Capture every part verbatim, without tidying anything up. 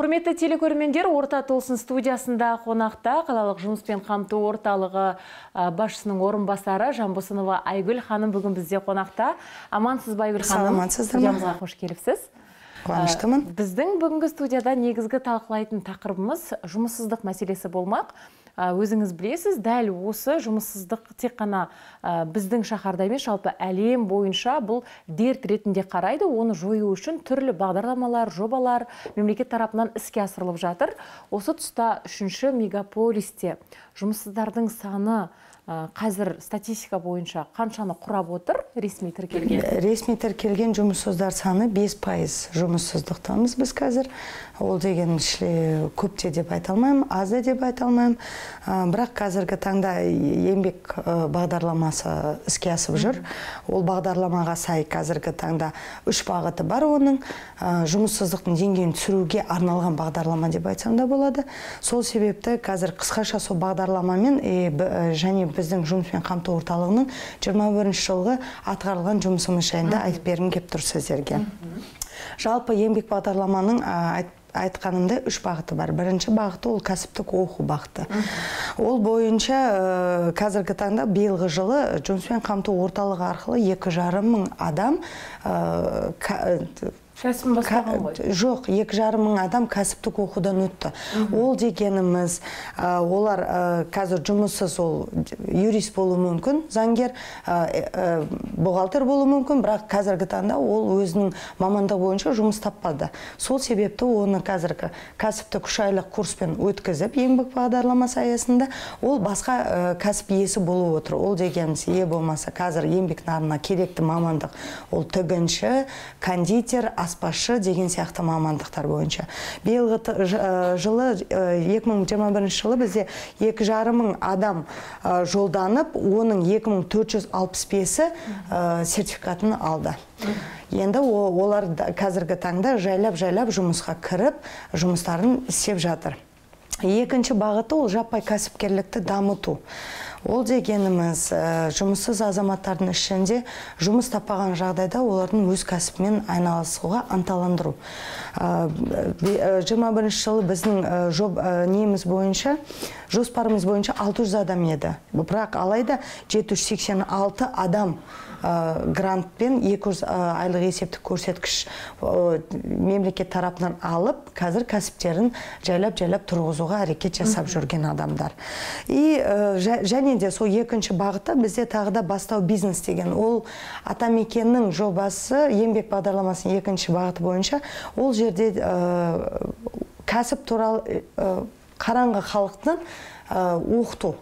Құрметті телекөрермендер, Орта Толсын студиясында қонақта қалалық жұмыспен қамту орталығы басшысының орынбасары Жанбосынова Айгүл ханым бүгін бізде қонақта. Амансыз ба, Айгүл ханым? Студиямызға қош келіпсіз. Қуаныштымын. Біздің бүгінгі студияда негізгі талқылайтын тақырыбымыз жұмыссыздық мәселесі болмақ. Өзіңіз білесіз, дәл осы жұмыссыздық тек қана біздің шаһарда емес, жалпы әлем бойынша бұл дерт ретінде қарайды. Оны жою үшін түрлі бағдарламалар, жобалар мемлекет тарапынан іске асырылып жатыр. Осы тұста үшінші мегаполисте жұмыссыздардың саны қазір статистика бойынша қаншаны құрап отыр, ресми тіркелген? Ресми тіркелген жұмыссыздар саны бес пайыз жұмыссыздықтамыз біз қазір. Ол деген көп те деп айта алмаймын, аз да деп айта алмаймын. Бірақ қазіргі таңда еңбек бағдарламасы іске асып жүр. Ол бағдарламаға сай қазіргі таңда үш бағыты бар оның. Жұмыссыздықтың деңгейін түсіруге арналған бағдарлама деп айтсам да болады. Сол себепті қазір қысқаша сол бағдарламамен және біздің жұмыспен қамту орталығының жиырма бірінші жылғы атқарылған жұмысымыз жайында айтып бергім келіп тұр сіздерге. Жалпы еңбек бағдарламаның айтқанымда үш бағыты бар. Бірінші бағыты ол кәсіптік оқу бағыты. Ол бойынша қазіргі таңда биылғы жылы жұмыспен қамту орталығы арқылы екі жарым мың адам Кәсібін бастаған ғой? Жоқ, екі жарым мың адам кәсіптік оқудан өтті. Ол дегеніміз, олар қазір жұмыссыз, ол юрист болуы мүмкін, заңгер, бухгалтер болуы мүмкін, бірақ қазіргі таңда ол өзінің мамандығы бойынша жұмыс таппады. Сол себепті оны қазіргі кәсіптік үш айлық курспен өткізіп, еңбек бағдарламасы аясында ол басқа кәсіп иесі болып отыр. Ол дегеніміз, е болмаса қазір еңбек нарығына керекті мамандық, ол тігінші, кондитер, аспазшы деген сияқты мамандықтар бойынша. Биылғы жылы, екі мың жиырма бірінші жылы бізде екі жарым мың адам жолданып, оның екі мың төрт жүз алпыс бесі сертификатын алды. Енді олар қазіргі таңда жайлап-жайлап жұмысқа кіріп, жұмыстарын істеп жатыр. Екінші бағыты ол жаппай кәсіпкерлікті дамыту. Ол дегеніміз жұмыссыз азаматтардың ішінде жұмыс таппаған жағдайда олардың өз кәсіпімен айналысуға ынталандыру. жиырма бірінші жылы біздің неміз бойынша, жоспарымыз бойынша алты жүз адам еді. Бірақ алайда жеті жүз сексен алты адам грантпен екі жүз айлық есептік көрсеткіш мемлекет тарапынан алып, қазір кәсіптерін жайлап-жайлап тұрғызуға әрекет жасап жүрген адамдар. И және де сол екінші бағытта бізде тағы да бастау бизнес деген. Ол Атамекеннің жобасы, еңбек бағдарламасының екінші бағыты бойынша, ол жерде кәсіп туралы қараңғы халықтың оқыту.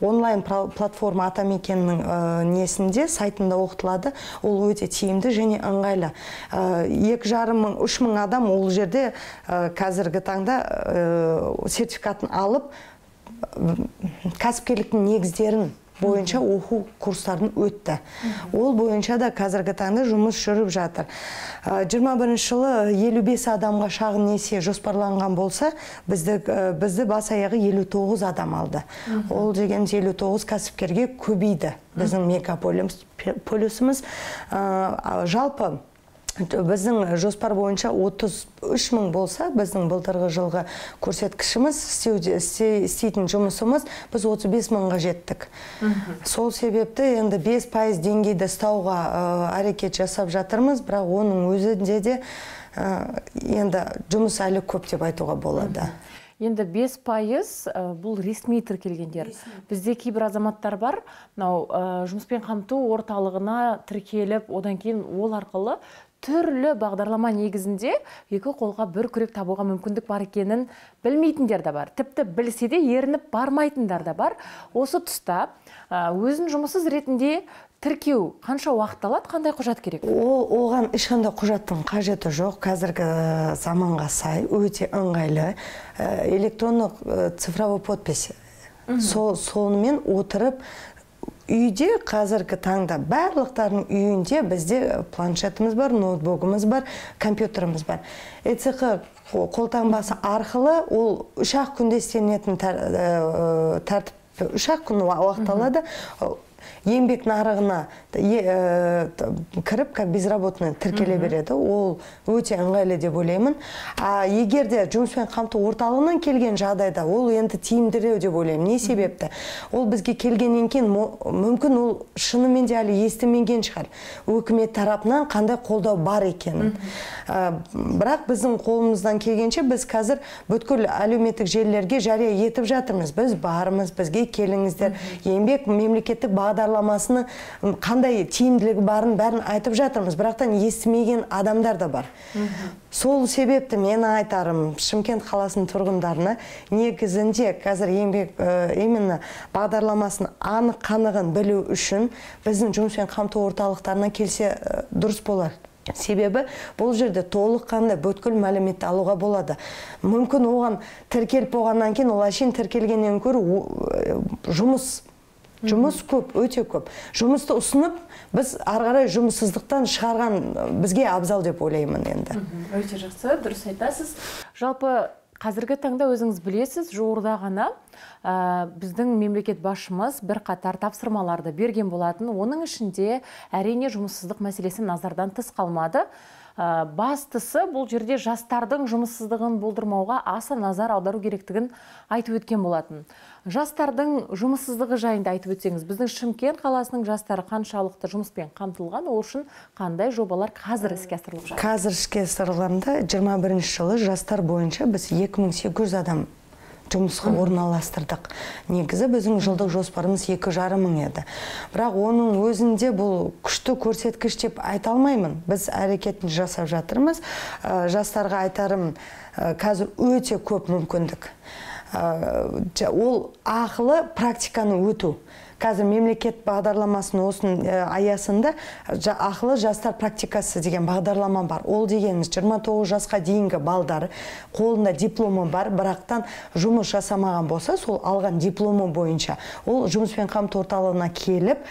Онлайн платформа Атамекеннің несінде, сайтында оқытылады. Ол өте тиімді және ыңғайлы. екі жарым мың, үш мың адам ол жерде қазіргі таңда сертификатын алып, кәсіпкерліктің негіздерін бойынша оқу курстарын өтті. Ол бойынша да қазіргі таңда жұмыс жүріп жатыр. жиырма бірінші жылы елу бес адамға шағын несие жоспарланған болса, бізді бас аяғы елу тоғыз адам алды. Ол деген елу тоғыз кәсіпкерге көбейді. Біздің мегаполисіміз жалпы біздің жоспар бойынша отыз үш мың болса, біздің былтырғы жылғы көрсеткішіміз, істейтін жұмысымыз, біз отыз бес мыңға жеттік. Сол себепті енді бес пайыз деңгейді ұстауға әрекет жасап жатырмыз, бірақ оның өзінде де енді жұмыс әлі көп деп айтуға болады. Енді бес пайыз бұл ресми тіркелгендер. Бізде кейбір азаматтар бар, жұмыспен қамту орталығына тіркеліп, одан кейін ол арқылы түрлі бағдарлама негізінде екі қолға бір күрек табуға мүмкіндік бар екенін білмейтіндер де бар. Тіпті білсе де ерініп бармайтындар да бар. Осы тұста өзін жұмыссыз ретінде тіркеу қанша уақыт алады, қандай құжат керек? Оған ешқандай құжаттың қажеті жоқ. Қазіргі заманға сай өте ыңғайлы электрондық цифровой подпись. Сонымен отырып үйде қазіргі таңда барлықтардың үйінде бізде планшетіміз бар, ноутбугымыз бар, компьютеріміз бар. ЭЦХ қолтаңбасы арқылы ол үш ақ күнде істелінетін тәртіп, үш ақ күн уақыт алады. Еңбек нарығына кіріп, как безработный тіркеле береді. Ол өте ыңғайлы деп ойлаймын. А егер де жұмыспен қамту орталығынан келген жағдайда, ол енді тиімдірек деп ойлаймын. Не себепті? Ол бізге келгеннен кейін мүмкін ол шынымен де әлі естімеген шығар. Өкімет тарапынан қандай қолдау бар екенін. Бірақ біздің қолымыздан келгенше біз қазір бүткіл әлеуметтік желілерге жария етіп жатырмыз. Біз бармыз, бізге келіңіздер. Еңбек мемлекеттік бағдарламасының қандай тиімділігі барын бәрін айтып жатырмыз. Бірақтан естімеген адамдар да бар. Сол себепті мен айтарым Шымкент қаласының тұрғындарына негізінде қазір еңбек именно бағдарламасын анық қанығын білу үшін біздің жұмыспен қамту орталықтарына келсе дұрыс болар. Себебі бұл жерде толық қандай бүткіл мәліметті алуға болады. Мүмкін оған тіркеліп болғаннан кейін, ол әшейін тіркелгеннен көрі жұмыс Жұмыс көп, өте көп. Жұмысты ұсынып, біз арғарай жұмыссыздықтан шығарған бізге абзал деп ойлаймын енді. Өте жақсы, дұрыс айтасыз. Жалпы қазіргі таңда өзіңіз білесіз, жуырда ғана біздің мемлекет басшымыз бір қатар тапсырмаларды берген болатын. Оның ішінде әрине жұмыссыздық мәселесі назардан тыс қалмады. Бастысы бұл жерде жастардың жұмыссыздығын болдырмауға аса назар аудару керектігін айтып өткен болатын. Жастардың жұмыссыздығы жайында айтып өтсеңіз, біздің Шымкент қаласының жастары қаншалықты жұмыспен қамтылған, ол үшін қандай жобалар қазір іске асырылып жатыр? Қазір іске асырылғанда жиырма бірінші жылы жастар бойынша біз екі мың сегіз жүз адам жұмысқа орналастырдық. Негізі біздің жылдық жоспарымыз екі жарым мың еді. Бірақ оның өзінде бұл күшті көрсеткіш деп айта алмаймын. Біз әрекетін жасап жатырмыз. Жастарға айтарым, қазір өте көп мүмкіндік. Ол ақылы практиканы өту. Қазір мемлекет бағдарламасының осының аясында ақылы жастар практикасы деген бағдарлама бар. Ол дегеніміз жиырма тоғыз жасқа дейінгі балдары қолында дипломы бар, бірақтан жұмыс жасамаған болса, сол алған дипломы бойынша ол жұмыспен қамту орталығына келіп,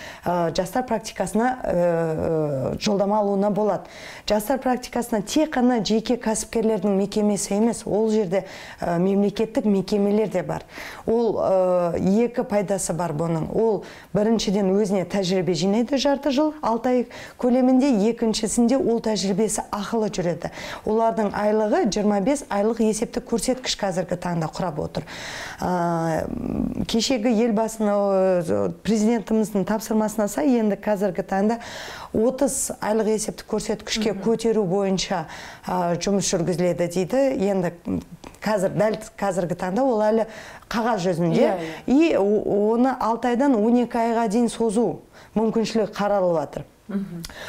жастар практикасына жолдама алуына болады. Жастар практикасына тек қана жеке кәсіпкерлердің мекемесі емес, ол жерде мемлекеттік мекемелер де бар. Ол екі пайдасы бар бұның. Ол біріншіден өзіне тәжірибе жинайды жарты жыл, алты ай көлемінде, екіншісінде ол тәжірибесі ақылы жүреді. Олардың айлығы жиырма бес айлық есептік көрсеткіш қазіргі таңда құрап отыр. Кешегі елбасының, президентіміздің тапсырмасына сай, енді қазіргі таңда отыз айлық есептік көрсеткішке көтеру бойынша жұмыс жүргізіледі дейді. Енді қазір, дәл қазіргі таңда ол әлі қағаз жүзінде, и оны алты айдан он екі айға дейін созу мүмкіншілік қаралып жатыр.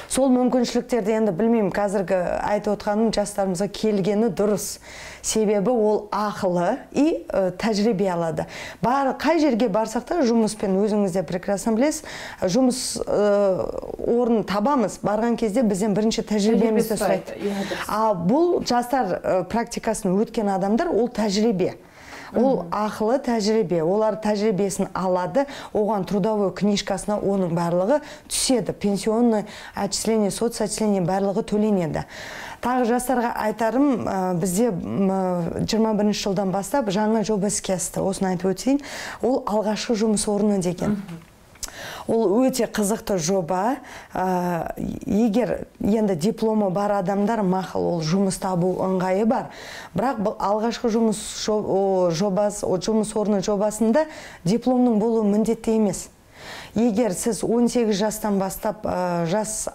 Сол мүмкіншіліктерді енді білмеймін, қазіргі айтып отқаным жастарымызға келгені дұрыс. Себебі ол ақылы и тәжірибе алады. Қай жерге барсақ та жұмыспен, өзіңіз де прекрасно білесіз, жұмыс орнын табамыз. Барған кезде бізден бірінші тәжірибемізді сұрайды. А бұл жастар практикасын өткен адамдар, ол тәжірибе. Ол ақылы тәжірибе, олар тәжірибесін алады, оған трудовой книжкасына оның барлығы түседі, пенсионный отчисление, соцотчисление барлығы төленеді. Тағы жастарға айтарым, бізде жиырма бірінші жылдан бастап жаңа жоба іске асты, осыны айтып өтейін, ол алғашқы жұмыс орны деген. Ол өте қызықты жоба. Егер енді дипломы бар адамдар мақұл, ол жұмыс табу ыңғайы бар. Бірақ бұл алғашқы жұмыс жобасы, жұмыс орны жобасында дипломның болуы міндетті емес. Егер сіз он сегіз жастан бастап жас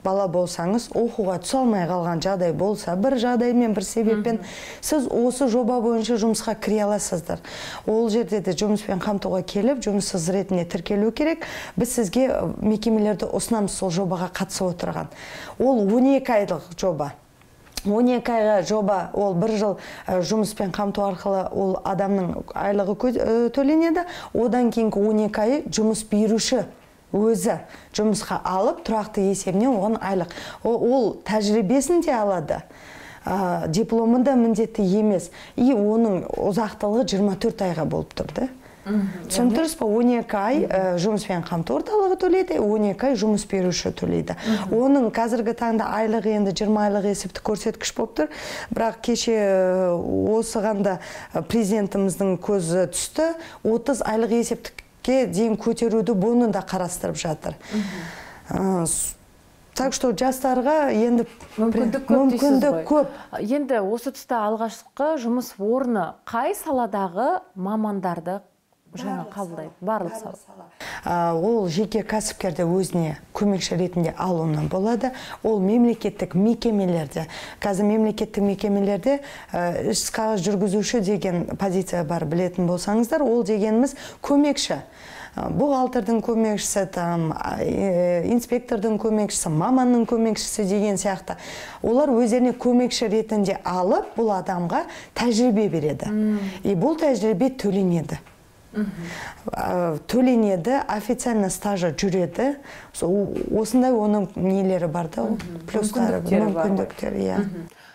бала болсаңыз, оқуға түсе алмай қалған жағдай болса, бір жағдаймен, бір себеппен, сіз осы жоба бойынша жұмысқа кіре аласыздар. Ол жерде де жұмыспен қамтуға келіп, жұмыссыз ретінде тіркелу керек. Біз сізге мекемелерді ұсынамыз сол жобаға қатысып отырған. Ол он екі айлық жоба. он екі айға жоба, ол бір жыл жұмыспен қамту арқылы ол адамның айлығы төленеді. Одан кейінгі он екі айы жұмыс беруші өзі жұмысқа алып, тұрақты есебінен оған айлық. Ол тәжірибесін де алады, дипломы да міндетті емес. И оның ұзақтылығы жиырма төрт айға болып тұрды. Түсініп тұрсыз ба? он екі ай жұмыспен қамту орталығы төлейді, он екі ай жұмыс беруші төлейді. Оның қазіргі таңда айлығы енді жиырма айлық есептік көрсеткіш болып тұр. Бірақ кеше осығанда президентіміздің көзі түсті, отыз айлық есептікке дейін көтеруді бұны да қарастырып жатыр. Так что жастарға енді мүмкіндік көп дейсіз ғой. Енді осы тұста алғашқы жұмыс орны қай саладағы мамандарды жаңа қабылдайды? Барлық сала. Ол жеке кәсіпкерді өзіне көмекші ретінде алуынан болады. Ол мемлекеттік мекемелерде, қазір мемлекеттік мекемелерде іс қағаз жүргізуші деген позиция бар, білетін болсаңыздар, ол дегеніміз көмекші. Бухгалтердің көмекшісі, инспектордың көмекшісі, маманның көмекшісі деген сияқты. Олар өздеріне көмекші ретінде алып, бұл адамға тәжірибе береді. И бұл тәжірибе төленеді. Төленеді, официально стажы жүреді. Осындай оның нелері бар да, плюстары, мүмкіндіктері.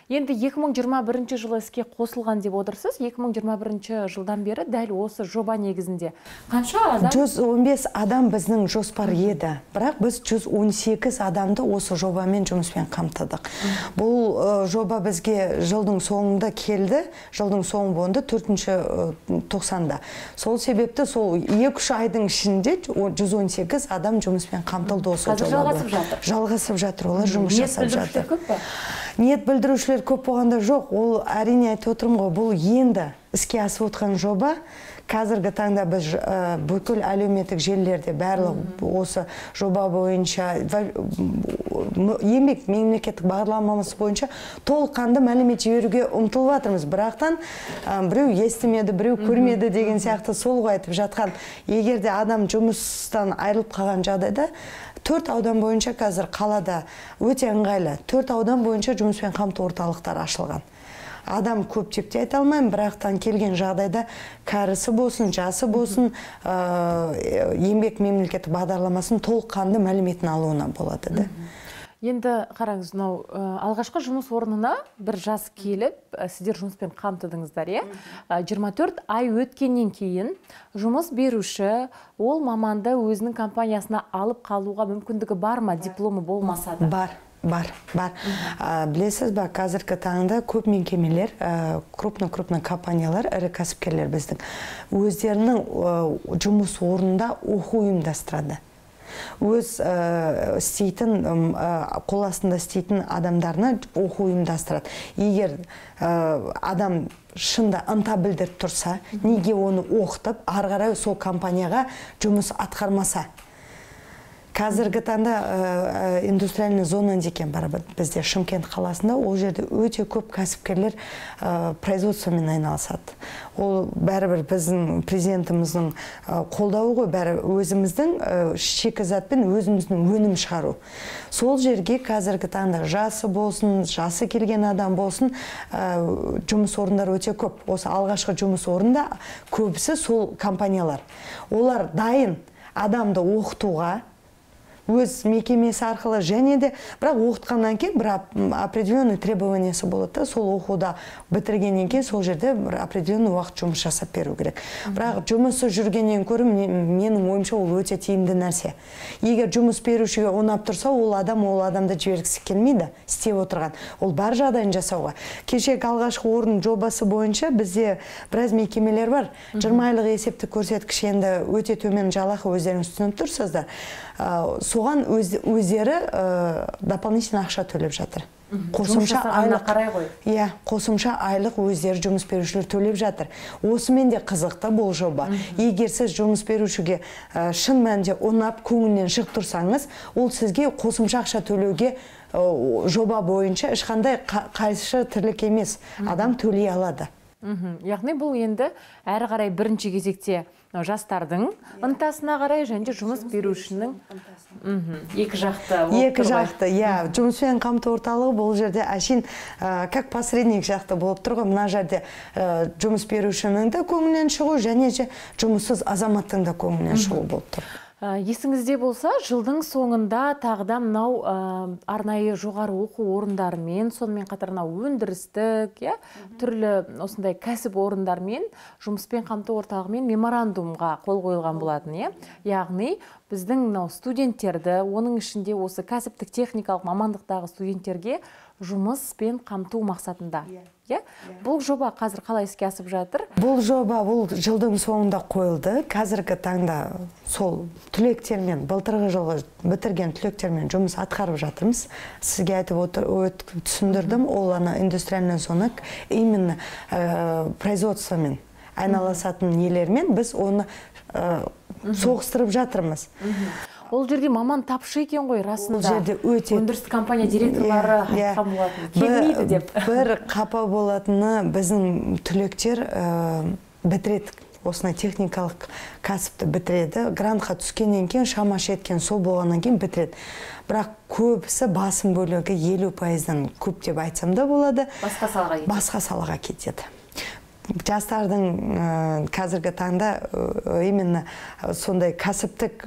Енді екі мың жиырма бірінші жылы іске қосылған деп отырсыз. екі мың жиырма бірінші жылдан бері дәл осы жоба негізінде қанша адам? жүз он бес адам біздің жоспар еді. Бірақ біз жүз он сегіз адамды осы жобамен жұмыспен қамтыдық. Бұл жоба бізге жылдың соңында келді. Жылдың соңы болды, төртінші тоқсанда. Сол себепті сол екі-үш айдың ішінде жүз он сегіз адам жұмыспен қамтылды осы жоба. Қазір жалғасып жатыр. Жалғасып жатыр, олар жұмыс жасап жатыр. Ниет білдірушілер көп па? Ниет білдірушілер көп болғанда жоқ. Ол әрине айтып отырмын ғой, бұл енді іске асып отқан жоба. Қазіргі таңда біз бүкіл әлеуметтік желілерде барлық осы жоба бойынша, еңбек мемлекеттік бағдарламасы бойынша толыққанды мәлімет жіберуге ұмтылып жатырмыз. Бірақтан біреу естімеді, біреу көрмеді деген сияқты сол ғой айтып жатқан. Егер де адам жұмыстан айырылып қалған жағдайда, төрт аудан бойынша қазір қалада өте ыңғайлы. Төрт аудан бойынша жұмыспен қамту орталықтар ашылған. Адам көп деп те айта алмаймын, бірақтан келген жағдайда кәрісі болсын, жасы болсын, еңбек мемлекеттік бағдарламасын толыққанды мәліметін алуына болады. Енді қараңыз, алғашқы жұмыс орнына бір жас келіп, сіздер жұмыспен қамтыдыңыздар, жиырма төрт ай өткеннен кейін жұмыс беруші ол маманды өзінің компаниясына алып қалуға мүмкіндігі бар ма, дипломы болмаса да? Бар. Бар, бар. Білесіз ба, қазіргі таңда көп мекемелер, крупны-крупны компаниялар, ірі кәсіпкерлер біздің өздерінің жұмыс орнында оқу ұйымдастырады. Өз істейтін, қол астында істейтін адамдарына оқу ұйымдастырады. Егер адам шында ынта білдіріп тұрса, неге оны оқытып, ары қарай сол компанияға жұмыс атқармаса? Қазіргі таңда индустриальный зона деген бар бізде Шымкент қаласында, ол жерде өте көп кәсіпкерлер производствомен айналысады. Ол бәрібір біздің президентіміздің қолдауы ғой, бәрі өзіміздің шикізатпен өзіміздің өнім шығару. Сол жерге қазіргі таңда жасы болсын, жасы келген адам болсын, жұмыс орындар өте көп. Осы алғашқы жұмыс орында көбісі сол компаниялар. Олар дайын адамды оқытуға, өз мекемесі арқылы және де, бірақ оқытқаннан кейін бір определенный требованиясы болады. Сол оқуда бітіргеннен кейін сол жерде бір определенный уақыт жұмыс жасап беру керек. Бірақ жұмысы жүргеннен көрі менің ойымша ол өте тиімді нәрсе. Егер жұмыс берушіге ұнап тұрса, ол адам ол адамды жібергісі келмейді, істеп отырған. Ол бар жағдайын жасауға. Кешегі алғашқы орын жобасы бойынша бізде біраз мекемелер бар. жиырма айлық есептік көрсеткіш енді өте төмен жалақы өздеріңіз түсініп тұрсыздар. Соған өздері дополнительно ақша төлеп жатыр. Қосымша айлық қарай ғой. Иә, қосымша айлық өздері жұмыс берушілер төлеп жатыр. Осымен де қызықты бұл жоба. Егер сіз жұмыс берушіге шын мәнінде ұнап, көңілінен шығып тұрсаңыз, ол сізге қосымша ақша төлеуге жоба бойынша ешқандай қайшы тірлік емес. Адам төлей алады. Яғни бұл енді әрі қарай бірінші кезекте жастардың ынтасына қарай және жұмыс берушінің екі жақты. Екі жақты, иә. Жұмыспен қамту орталығы бұл жерде әшейін как посредник жақты болып тұр ғой. Мына жерде жұмыс берушінің де көңілінен шығу және жұмыссыз азаматтың да көңілінен шығу болып тұр. Есіңізде болса, жылдың соңында тағыда мынау арнайы жоғары оқу орындарымен, сонымен қатар мынау өндірістік, түрлі осындай кәсіп орындармен, жұмыспен қамту орталығымен меморандумға қол қойылған болатын, яғни біздің мынау студенттерді, оның ішінде осы кәсіптік техникалық мамандықтағы студенттерге жұмыспен қамту мақсатында. Бұл жоба қазір қалай іске асып жатыр? Бұл жоба бұл жылдың соңында қойылды. Қазіргі таңда сол түлектермен, былтырғы жылғы бітірген түлектермен жұмыс атқарып жатырмыз. Сізге айтып түсіндірдім, ол ана индустриальный зона, именно производствомен айналысатын нелермен біз оны соғыстырып жатырмыз. Ол жерде маман тапшы екен ғой, расында. Ол жерде өте өндірістік компания директорлары айтқан болатын. Келмейді деп. Бір қапа болатыны біздің түлектер бітіреді, осындай техникалық кәсіпті бітіреді. Грантқа түскеннен кейін, шамашы еткен сол болғаннан кейін бітіреді. Бірақ көбісі басым бөлігі елу пайыздан көп деп айтсам да болады. Басқа салаға кетеді. Басқа салаға кетеді. Жастардың қазіргі таңда именно сондай кәсіптік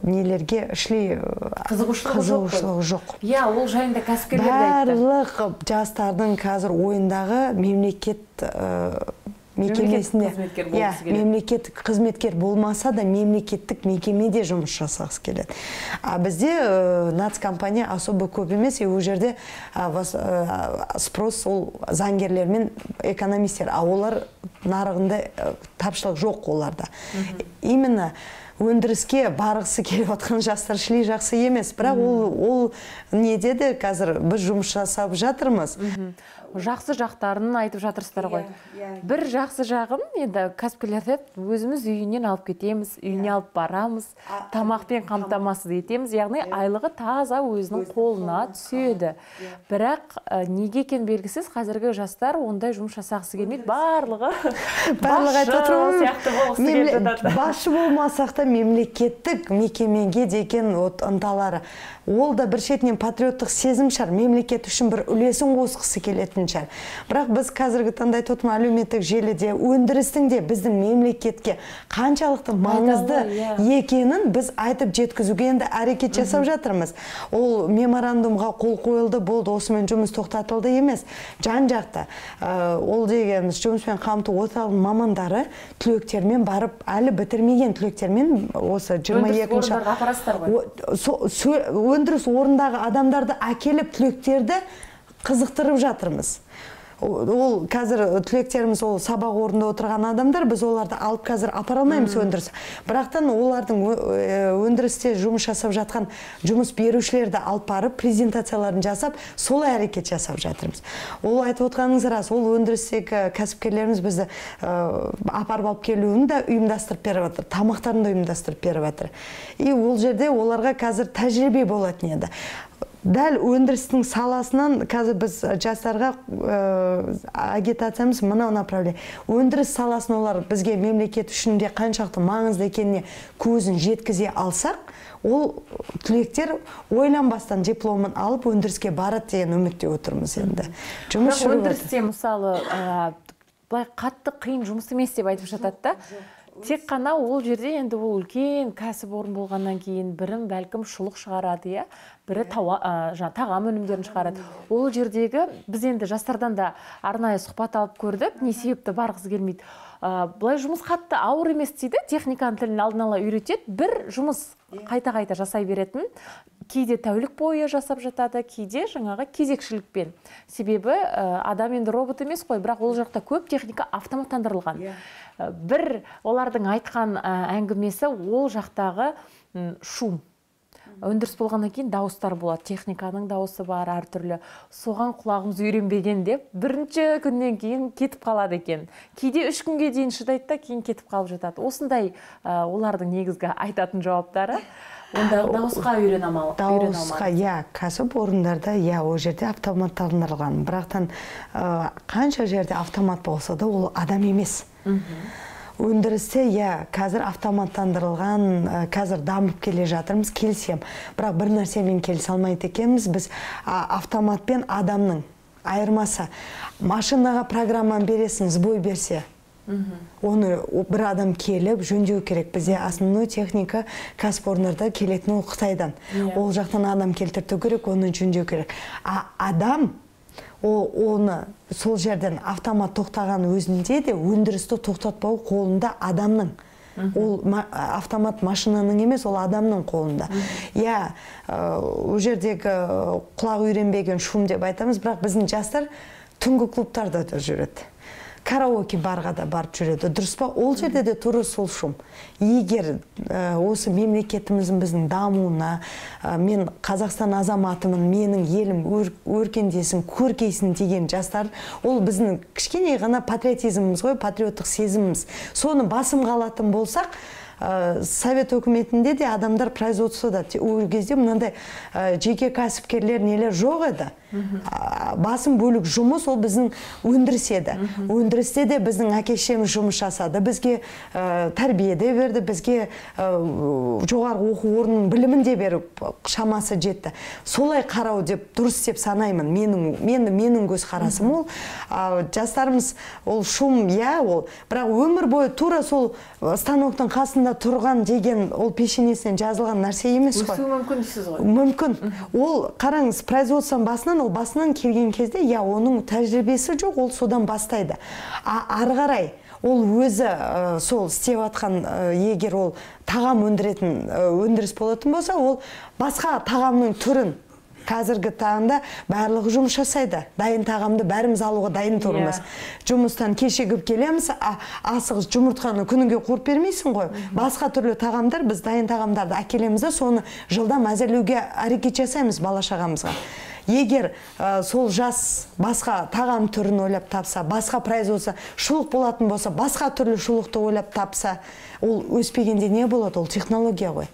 нелерге ішлей қызығушылығы жоқ. Иә, ол жайында кәсіпкерлер де айтты. Барлық жастардың қазір ойындағы мемлекет мекемесінде, мемлекеттік қызметкер болмаса да мемлекеттік мекемеде жұмыс жасағысы келеді. А бізде нацкомпания особо көп емес, ол жерде спрос ол заңгерлер мен экономистер, а олар нарығында тапшылық жоқ оларда. Именно өндіріске барғысы келіп отқан жастар шлей жақсы емес, бірақ ол не деді, қазір біз жұмыс жасап жатырмыз. Жақсы жақтарын айтып жатырсыздар ғой. Бір жақсы жағын, енді кәсіпкерлер өзіміз үйінен алып кетеміз, үйіне алып барамыз, тамақпен қамтамасыз етеміз, яғни айлығы таза өзінің қолына түседі. Бірақ неге екен белгісіз, қазіргі жастар ондай жұмыс жасағысы келмейді, барлығы басшы сияқты болғысы келіп жатады. Басшы болмасақ та мемлекеттік мекемеге деген ынталары. Ол да бір шетінен патриоттық сезім шығар, мемлекет үшін бір үлесін қосқысы келетін шығар. Бірақ біз қазіргі таңда айтып отырмын, әлеуметтік желіде, өндірістің де біздің мемлекетке қаншалықты маңызды екенін біз айтып жеткізуге енді әрекет жасап жатырмыз. Ол меморандумға қол қойылды, болды, осымен жұмыс тоқтатылды емес. Жан-жақты ол дегеніміз жұмыспен қамту орталығының мамандары түлектермен барып, әлі бітірмеген түлектермен осы жиырма екінші өндіріс орындағы адамдарды әкеліп түлектерді қызықтырып жатырмыз. Ол қазір түлектеріміз ол сабақ орнында отырған адамдар, біз оларды алып қазір апара алмаймыз өндіріс. Бірақтан олардың өндірісте жұмыс жасап жатқан жұмыс берушілерді алып барып, презентацияларын жасап, сол әрекет жасап жатырмыз. Ол айтып отқаныңыз рас, ол өндірістегі кәсіпкерлеріміз бізді апарып алып келуін де ұйымдастырып беріп жатыр, тамақтарын да ұйымдастырып беріп жатыр. И ол жерде оларға қазір тәжірибе болатын еді. Дәл өндірістің саласынан қазір біз жастарға агитациямыз мынау направление. Өндіріс саласын олар бізге мемлекет үшін де қаншалықты маңызды екеніне көзін жеткізе алсақ, ол түлектер ойланбастан дипломын алып өндіріске барады деген үмітте отырмыз енді. Жұмыс өндірісте мысалы былай қатты қиын жұмыс емес деп айтып жатады да. Тек қана ол жерде енді ол үлкен кәсіп орын болғаннан кейін бірін бәлкім шұлық шығарады, иә, бірі тағам өнімдерін шығарады. Ол жердегі біз енді жастардан да арнайы сұхбат алып көрдік, не себепті барғысы келмейді. Бұлай жұмыс қатты ауыр емес дейді, техниканың тілін алдын ала үйретеді, бір жұмыс қайта-қайта жасай беретін, кейде тәулік бойы жасап жатады, кейде жаңағы кезекшілікпен. Себебі адам енді робот емес қой, бірақ ол жақта көп техника автоматтандырылған. Бір олардың айтқан әңгімесі ол жақтағы шум. Өндіріс болғаннан кейін дауыстар болады, техниканың дауысы бар әртүрлі. Соған құлағымыз үйренбеген деп, бірінші күннен кейін кетіп қалады екен. Кейде үш күнге дейін шыдайды да, кейін кетіп қалып жатады. Осындай олардың негізгі айтатын жауаптары. Онда дауысқа үйрене алмау. Дауысқа, иә, кәсіп орындарда, иә, ол жерде автоматтандырылған. Бірақтан қанша жерде автомат болса да, ол адам емес. Өндірісте, иә, қазір автоматтандырылған, қазір дамып келе жатырмыз, келсем. Бірақ бір нәрсемен келісе алмайды екенбіз, біз автомат пен адамның айырмасы. Машинаға программаны бересің, сбой берсе, Оны бір адам келіп жөндеу керек. Бізде основной техника кәсіпорындарда келетін ол Қытайдан. Ол жақтан адам келтірту керек, оны жөндеу керек. А адам оны сол жерден автомат тоқтаған өзінде де өндірісті тоқтатпау қолында адамның. Ол автомат машинаның емес, ол адамның қолында. Я, ол жердегі құлақ үйренбеген шум деп айтамыз, бірақ біздің жастар түнгі клубтарда да жүреді. Караоке барға да барып жүреді. Дұрыс па? Ол жерде де туры сол шум. Егер осы мемлекетіміздің біздің дамуына, мен Қазақстан азаматымын, менің елім өркендесін, көркейсін деген жастар, ол біздің кішкене ғана патриотизміміз ғой, патриоттық сезіміміз. Соны басым қалатын болсақ, Совет өкіметінде де адамдар производствода, ол кезде мынандай жеке кәсіпкерлер нелер жоқ еді. Басым бөлік жұмыс ол біздің өндіріс еді. Өндірісте де біздің әке-шешеміз жұмыс жасады. Бізге тәрбие де берді, бізге жоғарғы оқу орнының білімін де беріп шамасы жетті. Солай қарау деп дұрыс деп санаймын. Менің менің көз қарасым ол. Жастарымыз ол шум, я ол, бірақ өмір бойы тура сол станоктың қасында тұрған деген ол пешенесінен жазылған нәрсе емес қой. Өсуі мүмкін дейсіз ғой? Мүмкін. Ол қараңыз, производствоның басынан, ол басынан келген кезде, я оның тәжірибесі жоқ, ол содан бастайды. Ары қарай ол өзі сол істеп атқан, егер ол тағам өндіретін өндіріс болатын болса, ол басқа тағамның түрін қазіргі таңда барлығы жұмыс жасайды. Дайын тағамды бәріміз алуға дайын тұрмыз. Жұмыстан кешігіп келеміз, асығыс жұмыртқаны күніге қорып бермейсің ғой. Басқа түрлі тағамдар, біз дайын тағамдарды әкелеміз де, соны жылдам әзірлеуге әрекет жасаймыз бала-шағамызға. Егер сол жас басқа тағам түрін ойлап тапса, басқа производство шұлық болатын болса, басқа түрлі шұлықты ойлап тапса, ол өспегенде не болады? Ол технология ғой.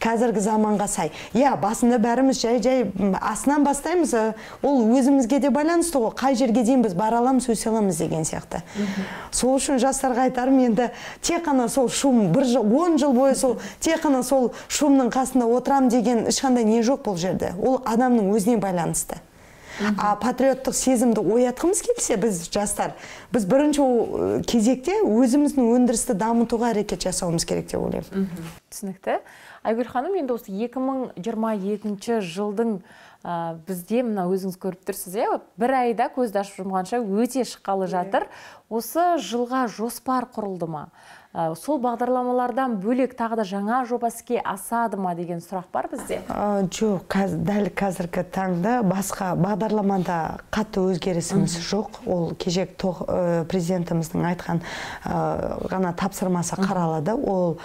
Қазіргі заманға сай. Я, басында бәріміз жай-жай асынан бастаймыз, ол өзімізге де байланысты ғой. Қай жерге дейін біз бара аламыз, өсе аламыз деген сияқты. Сол үшін жастарға айтарым, енді тек қана сол шум, бір жыл, он жыл бойы сол тек қана сол шумның қасында отырам деген ешқандай не жоқ бұл жерде. Ол адамның өзіне байланысты. А патриоттық сезімді оятқымыз келсе, біз жастар, біз бірінші кезекте өзіміздің өндірісті дамытуға әрекет жасауымыз керек деп ойлаймын. Түсінікті. Айгүл ханым, енді осы екі мың жиырма екінші жылдың бізде, мына өзіңіз көріп тұрсыз, бір айда көзді ашып жұмғанша өте шыққалы жатыр. Осы жылға жоспар құрылды ма? Сол бағдарламалардан бөлек тағы да жаңа жоба іске асады ма деген сұрақ бар бізде? Жоқ, дәл қазіргі таңда басқа бағдарламада қатты өзгерісіміз жоқ. Ол кешек президентіміздің айтқан ғана тапсырмасы қаралады. Ол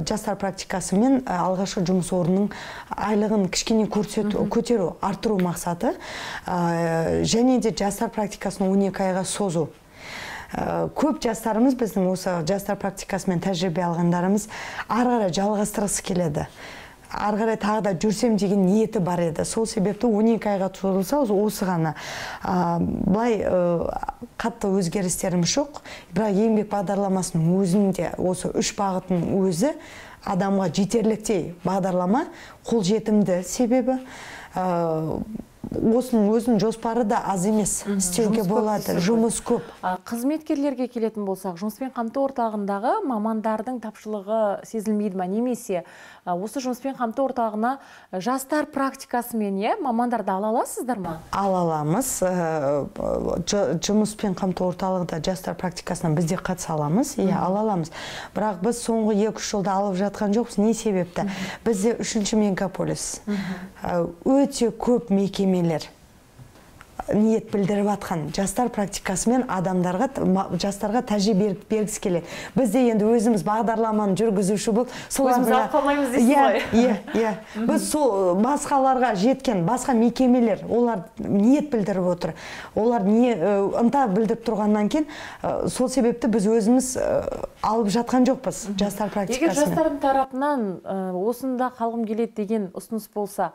жастар практикасы мен алғашқы жұмыс орнының айлығын кішкене көтеру, арттыру мақсаты. Және де жастар практикасын он екі айға созу. Көп жастарымыз, біздің осы жастар практикасымен тәжірибе алғандарымыз ары қарай жалғастырғысы келеді. Ары қарай тағы да жүрсем деген ниеті бар еді. Сол себепті он екі айға созылса, осы ғана. Былай қатты өзгерістеріміз жоқ. Бірақ еңбек бағдарламасының өзінде осы үш бағытын өзі адамға жетерліктей бағдарлама, қолжетімді себебі осының өзінің жоспары да аз емес, істеуге болады, жұмыс көп. Қызметкерлерге келетін болсақ, жұмыспен қамту орталығындағы мамандардың тапшылығы сезілмейді ма? Немесе осы жұмыспен қамту орталығына жастар практикасымен мамандарды ала аласыздар ма? Ала аламыз. Жұмыспен қамту орталығында жастар практикасына бізде қатыса аламыз, ала аламыз. Бірақ біз соңғы екі-үш жылда алып жатқан жоқпыз. Не себепті? Бізде үшінші мегаполис. Өте көп мекеме ниет білдіріп атқан жастар практикасымен адамдарға, жастарға тәжірибе бергісі келеді. Бізде енді өзіміз бағдарламаны жүргізуші болып, өзіміз алып қалмаймыз дейсіз ғой. Иә, иә. Біз сол басқаларға жеткен, басқа мекемелер, олар ниет білдіріп отыр. Олар не ынта білдіріп тұрғаннан кейін, сол себепті біз өзіміз алып жатқан жоқпыз жастар практикасымен. Егер жастардың тарапынан осында қалғым келеді деген ұсыныс болса,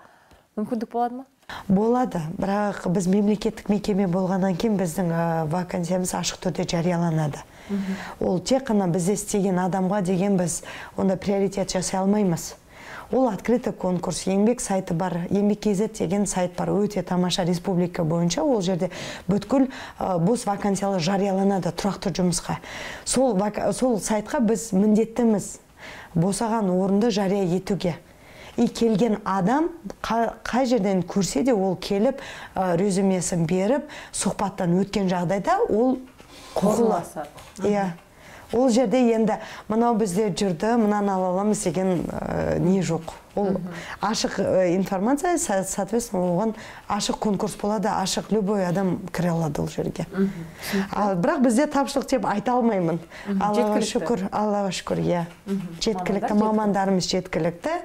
мүмкіндік болады ма? Болады, бірақ біз мемлекеттік мекеме болғаннан кейін біздің вакансиямыз ашық түрде жарияланады. Ол тек қана бізде істеген адамға деген біз онда приоритет жасай алмаймыз. ол открытый конкурс, еңбек сайты бар, еңбек кз деген сайт бар, өте тамаша, республика бойынша. Ол жерде бүткіл бос вакансиялар жарияланады тұрақты жұмысқа. Сол, сол сайтқа біз міндеттіміз босаған орынды жария етуге. И келген адам қай жерден көрсе де ол келіп резюмесін беріп, сұхбаттан өткен жағдайда ол құқылы. Иә. Ол жерде енді мынау бізде жүрді, мынаны ала аламыз деген не жоқ. Ол ашық информация, соответственно, оған ашық конкурс болады, ашық любой адам кіре алады ол жерге. Бірақ бізде тапшылық деп айта алмаймын. Аллаға шүкір, Аллаға шүкір, иә. Жеткілікті, мамандарымыз жеткілікті.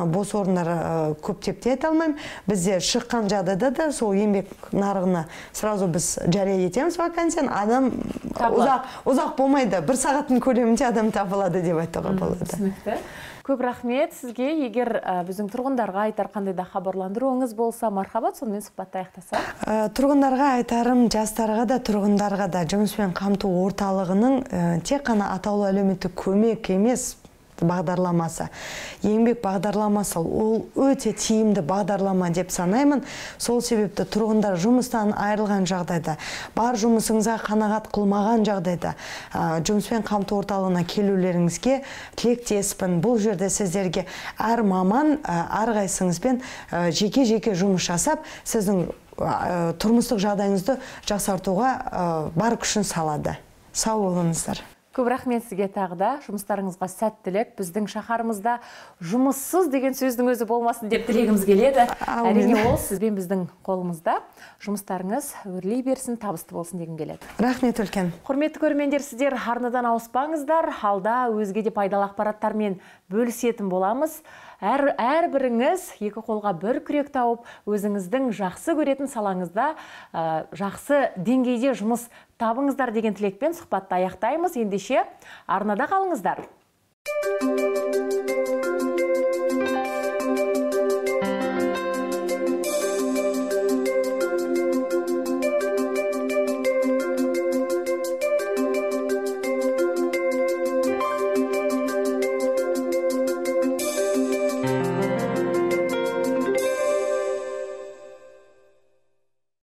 Бос орындар көп деп те айта алмаймын. Бізде шыққан жағдайда да сол еңбек нарығына сразу біз жария етеміз вакансияны, адам ұзақ болмайды. Бір сағаттың көлемінде адам табылады деп айтуға болады. Түсінікті. Көп рахмет сізге. Егер біздің тұрғындарға айтар қандай да хабарландыруыңыз болса, мархабат, сонымен сұхбатты аяқтасақ. Тұрғындарға айтарым, жастарға да, тұрғындарға да жұмыспен қамту орталығының тек қана атаулы әлеуметтік көмек емес бағдарламасы. Еңбек бағдарламасы ол өте тиімді бағдарлама деп санаймын. Сол себепті тұрғындар жұмыстан айырылған жағдайда, бар жұмысыңызға қанағат қылмаған жағдайда жұмыспен қамту орталығына келулеріңізге тілектеспін. Бұл жерде сіздерге әр маман әрқайсыңызбен жеке-жеке жұмыс жасап, сіздің тұрмыстық жағдайыңызды жақсартуға бар күшін салады. Сау болыңыздар. Көп рахмет сізге тағы да. Жұмыстарыңызға сәттілік. Біздің шаһарымызда жұмыссыз деген сөздің өзі болмасын деп тілегіміз келеді. Әрине ол сізбен біздің қолымызда. Жұмыстарыңыз өрлей берсін, табысты болсын дегім келеді. Рахмет үлкен. Құрметті көрермендер, сіздер арнадан ауыспаңыздар. Алда өзге де пайдалы ақпараттармен бөлісетін боламыз. Әр, әр біріңіз екі қолға бір күрек тауып, өзіңіздің жақсы көретін салаңызда ә, жақсы деңгейде жұмыс табыңыздар деген тілекпен сұхбатты аяқтаймыз. Ендеше арнада қалыңыздар.